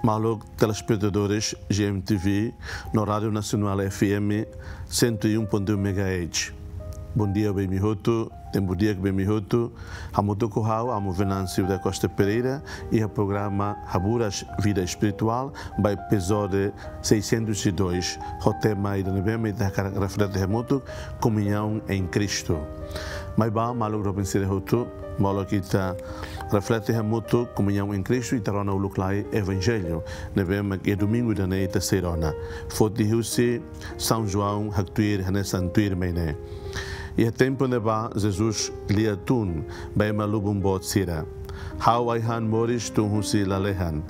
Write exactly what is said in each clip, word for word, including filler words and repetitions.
Maluk telespetadores G M T V no Rádio Nacional F M cento e um ponto um megahertz. Bondia ba imi hotu, tempu di'ak ba imi hotu. Hamutuk ho ha'u, Amu Venâncio da Costa Pereira, iha programa Haburas Vida Espiritual, ba epizódiu seiscentos e dois, ho tema ida ne'ebé mak ita hakarak reflete hamutuk, Comunhão em Cristo. Maibá, maluk doben sira hotu, molok ita reflete hamutuk Comunhão em Cristo, ita rona uluk lai Evanjellu ne'ebé mak iha domingu ida-ne'e ita sei rona. Foti husi São João haktuir hanesan tuirmai ne'e. Iha tempu ne'ebá, Jesus lia tun ba ema lubun boot sira: Ha'u ai-han moris tun husi lalehan.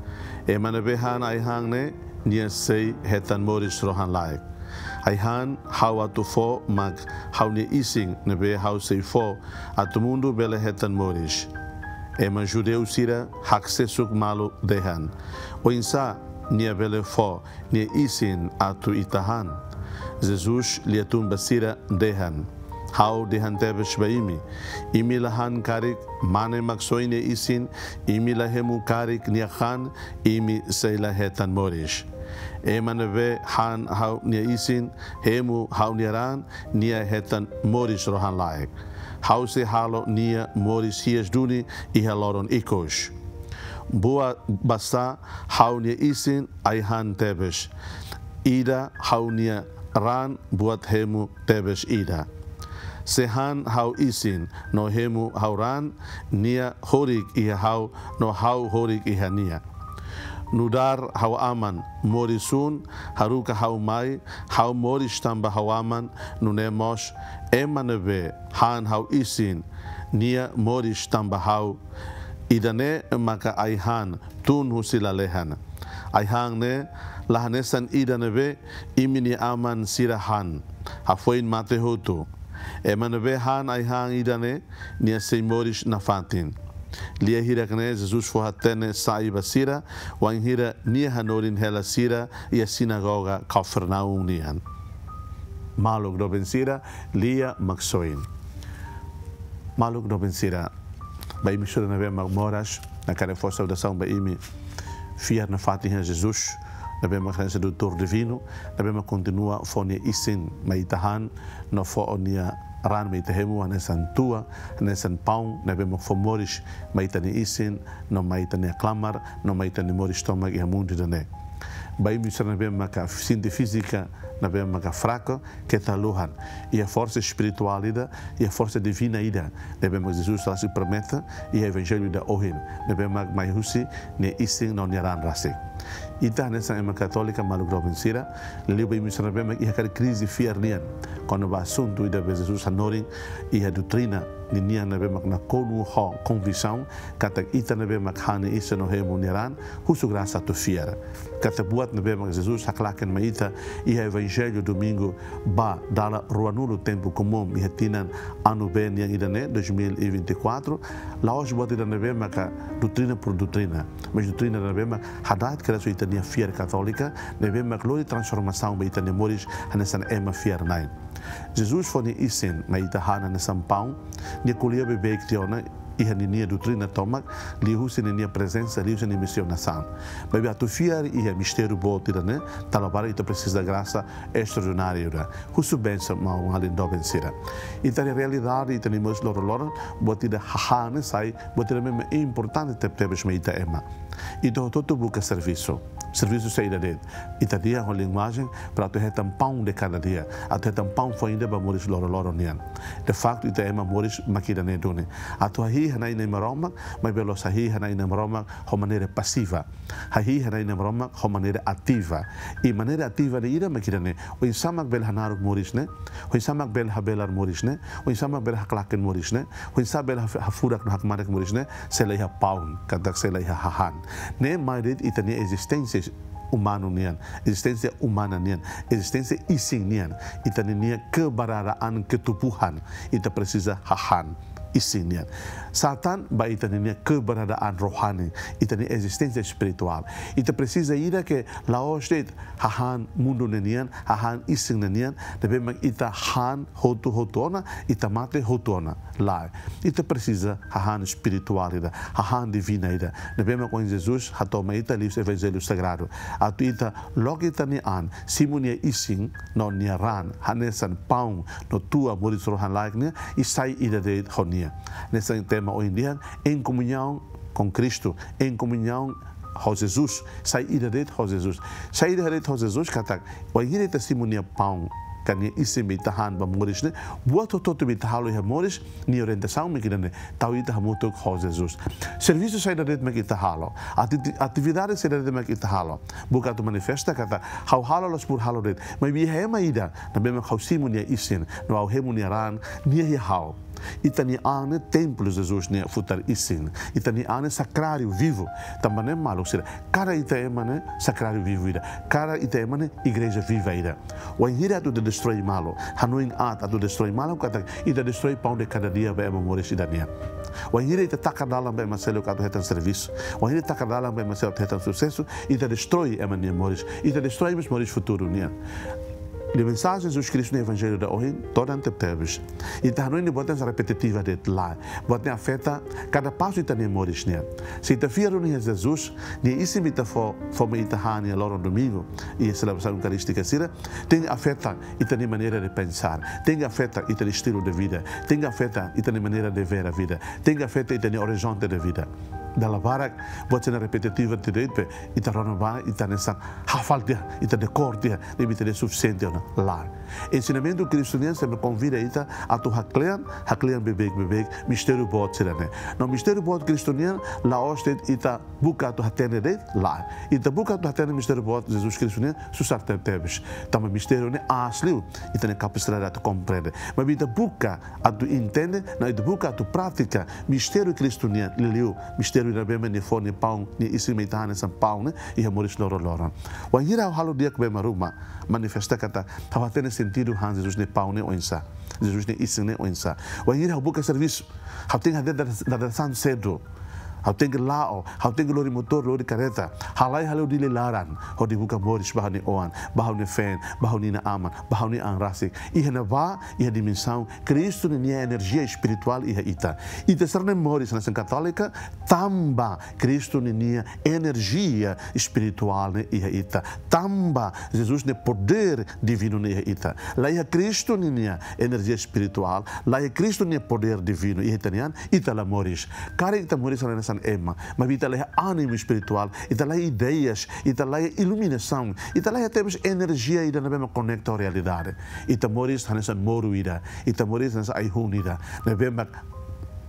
Ema ne'ebé han ai-han ne'e, nia sei hetan moris rohan-laek. Ai-han ha'u atu fó mak ha'u-nia isin ne'ebé ha'u sei fó atu mundu bele hetan moris. Ema judeu sira haksesuk malu dehan: Oinsá nia bele fó nia isin atu ita han? Jesus lia tun ba sira dehan: Ha'u dehan tebes ba imi, imi la han karik Mane Maksoin nia isin, imi la hemu karik nia han, imi sei la hetan moris. Ema ne'ebé han ha'u-nia isin, hemu ha'u-nia raan, nia hetan moris rohan-laek. Ha'u sei halo nia moris hi'as duni iha loron ikus. Buat basá ha'u-nia isin ai-han tebes ida, ha'u-nia raan buat hemu tebes ida. Sé han ha'u isin no hemu ha'u raan, nia horik iha ha'u no ha'u horik iha nia. Nu'udar ha'u Aman moris-hun haruka ha'u mai, ha'u moris tanba ha'u Aman, nune'e mós ema ne'ebé han ha'u isin, nia moris tanba ha'u. Ida-ne'e maka ai-han tun husi lalehan. Ai-han ne'e la hanesan ida ne'ebé imi-nia aman sira han, hafoin mate hotu. Ema ne'ebé han ai-han ida-ne'e, nia sei moris nafatin. Lia hirak-ne'e Jesus fó-hatene sai ba sira, wainhira nia hanorin hela sira iha sinagoga Kafarnaum nian. Maluk doben sira, Lia Maksoin. Maluk doben sira, ba imi sira ne'ebé mak moras, hakarak fó saudasaun ba imi. Fiar nafatin iha Jesus, ne'ebé mak hanesan doutór divinu, ne'ebé mak kontinua fó nia isin mai ita han, no fó nia raan mai ita hemu, hanesan tua, hanesan paun ne'ebé mak fó moris mai ita-nia isin, no mai ita-nia klamar, no mai ita-nia moris tomak iha mundu ida-ne'e. Ba imi sira ne'ebé maka sente fízika ne'ebé maka fraku, keta haluhan. Iha forsa espirituál ida, iha forsa divina ida ne'ebé mak Jesus rasik promete iha Evanjellu ida ohin, ne'ebé mak mai husi nia isin no nia raan rasik. Ita hanesan ema katólika, maluk doben sira, liuliu ba imi sira ne'ebé mak iha karik krize fiar nian kona-ba asuntu ida ne'ebé Jesus hanorin iha doutrina ninian ne'ebé mak nakonu ho konviksaun katak ita ne'ebé mak han nia isin no hemu nia raan, husu grasa atu fiar katak buat ne'ebé mak Jesus haklaken mai ita iha Evanjellu domingu ba dala ruanulu tempu komún iha tinan anu B nian ida-ne'e, dois mil e vinte e quatro, la'ós buat ida ne'ebé maka doutrina por doutrina, mas doutrina ne'ebé mak hada'et kedas ho ita-nia fiar katólika, ne'ebé mak lori transformasaun ba ita-nia moris hanesan ema fiar-na'in. Jesus fó nia isin mai ita han hanesan paun, nia ko'alia beibeik tiha ona iha ninia doutrina tomak, liuhusi ninia prezensa, liuhusi nia misionasaun. Maibé atu fiar iha mistériu boot ida-ne'e, dala barak ita presiza grasa estraordináriu ida. Husu bensaun, maluk doben sira. Ita-nia realidade, ita-nia moris loroloron, buat ida hahán ne'e sai buat ida ne'ebé importante tebetebes mai ita ema. Ita hotu-hotu buka servisu. Servisu saida de'it? Ita dehan ho linguajen, para atu hetan pão de cada dia, atu hetan paun foin ida ba moris loroloron nian. De facto, ita ema moris mak ida-ne'e duni. Atu hahi'i hana'i Nai Maromak, maibé la'ós hahi'i hana'i Nai Maromak ho maneira pasiva. Hahi'i hana'i Nai Maromak ho maneira ativa. I maneira ativa ne'e ida mak ida-ne'e. Oinsá mak bele hanaruk moris ne'e, oinsá mak bele habelar moris ne'e, oinsá mak bele haklaken moris ne'e, oinsá bele haf-, hafurak no hakmatek moris ne'e, se la iha paun, katak se la iha hahán. Ne'e mai de'it ita-nia ezisténsia umanu nian, ezisténsia umana nian, ezisténsia isin nian, ita ninia keberadaan, ketubuhan, ita presiza hahán. isin nian. Sá tan ba ita-nia keberadaan rohani, ita-nia ezisténsia espirituál. Ita presiza ida ke la'ós de'it hahán mundu ne'e nian, hahán isin ne'e nian, ne'ebé mak ita han hotu-hotu ona, ita mate hotu ona. Lae. Ita presiza hahán espirituál ida, hahán divina ida. Ne'ebé mak ohin Jesus hato'o mai ita liuhusi Evanjellu Sagradu. Atu ita loke ita-nia an, simu nia isin no nia raan, hanesan paun no tua moris rohan-laek nian, i sai ida de'it ho nia. Hanesan tema ohin dehan, em comunhão com Cristo, em comunhão ho Jesus, sai ida de'it ho Jesus. Sai ida de'it ho Jesus katak, wainhira ita simu nia paun, ka nia isin be ita han ba moris ne'e, buat hotu-hotu be ita halo iha moris, nia orientasaun mak ida-ne'e, tau ita hamutuk ho Jesus. Servisu saida de'it mak ita halo, ati-, atividade saida de'it mak ita halo, buka atu manifesta katak ha'u halo la'ós por halo de'it, maibé iha ema ida ne'ebé mak ha'u simu nia isin, no ha'u hemu nia raan, nia iha ha'u. Ita-nia an ne'e templu Jesus nia futar isin. Ita-nia an ne'e sakráriu vivu. Tanba ne'e maluk sira, kada ita ema ne'e sakráriu vivu ida. Kada ita ema ne'e igreja viva ida. Wainhira atu ita destrói malu, hanoin aat atu destrói malu, katak ita destrói pão de cada dia ba ema moris ida nian. Wainhira ita taka dalan ba ema seluk atu hetan servisu, wainhira taka dalan ba ema seluk atu hetan susesu, ita destrói ema nia moris, ita destrói mós moris futuru nian. Nia mensajen Jesus Kristu nia Evanjellu ida ohin todan tebetebes. Ita hanoin ne'e buat hanesan repetitiva de'it, lae. Buat ne'e afeta kada pasu ita-nia moris nian. Se ita fiar duni iha Jesus, nia isin be ita fó, fó mai ita han iha loron domingu, iha selebrasaun eukarístika sira, tenke afeta ita-nia maneira de pensar, tenke afeta ita-nia estilo de vida, tenke afeta ita-nia maneira de ver a vida, tenke afeta ita-nia horizonte de vida. Dala barak, buat sira ne'e repetitiva tiha de'it be, ita rona ba, ita hanesan hafal tiha, ita dekór tiha, ne'ebé ita dehan sufisiente ona, lae. Ensinamentu Kristu nian sempre konvida ita atu haklean, haklean beibeik-beibeik mistériu boot sira-ne'e. No mistériu boot Kristu nian la'ós de'it ita buka atu hatene de'it, lae. Ita buka atu hatene mistériu boot Jesus Kristu nian susar tebetebes. Tanba mistériu ne'e aas liu, ita-nia kapasidade atu komprende. Maibé ita buka atu entende, no ita buka atu pratika mistériu Kristu nian, liuliu mistériu ne'ebé mak nia fó nia paun, nia isin mai ita han hanesan paun ne'e iha moris loroloron. Wainhira ha'u halo di'ak ba ema ruma, manifesta katak ha'u hatene sentidu han Jesus nia paun ne'e oinsá, Jesus nia isin ne'e oinsá. Wainhira ha'u buka servisu, ha'u tenke hadeer dada-, dadeer-saan sedu. Ha'u tenke la'o, ha'u tenke lori motór, lori karreta. Halai hale'u Dili laran, hodi buka moris ba ha'u-nia oan, ba ha'u-nia feen, ba ha'u-nia inan-aman, ba ha'u-nia an rasik. Iha ne'ebá, iha dimensaun Kristu ninia enerjia espirituál iha ita. Ita sira-ne'e moris hanesan katólika, tanba Kristu ninia enerjia espirituál ne'e iha ita. Tanba Jesus nia podér divinu ne'e iha ita. La iha Kristu ninia enerjia espirituál, la iha Kristu nia podér divinu iha ita-nia an, ita la moris. Karik ita moris hanesan ema, maibé ita la iha ánimu espirituál, ita la iha ideias, ita la iha iluminasaun, ita la iha tebes enerjia ida ne'ebé mak konekta ho realidade. Ita moris hanesan moru ida, ita moris hanesan ai-hun ida ne'ebé mak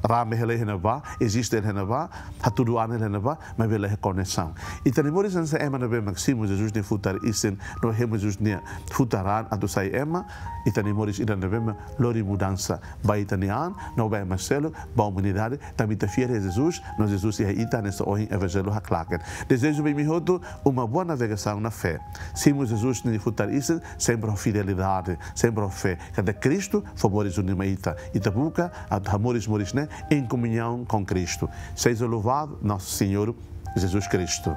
rame hela iha ne'ebá, eziste hela iha ne'ebá, hatudu an hela iha ne'ebá, maibé la iha koneksaun. Ita-nia moris hanesan ema ne'ebé mak simu Jesus nia futar isin, no hemu Jesus nia futar raan atu sai ema, ita-nia moris ida ne'ebé mak lori mudansa ba ita-nia an, no ba ema seluk, ba umanidade, tanba ita fiar iha Jesus, no Jesus iha ita hanesan ohin Evanjellu haklaken. Dezeja ba imi hotu uma boa navegação na fé. Simu Jesus nia futar isin, sempre ho fidelidade, sempre ho fé. Katak Kristu fó moris duni mai ita. Ita buka atu hamoris moris ne'e em comunhão com Cristo. Seja louvado nosso Senhor Jesus Cristo.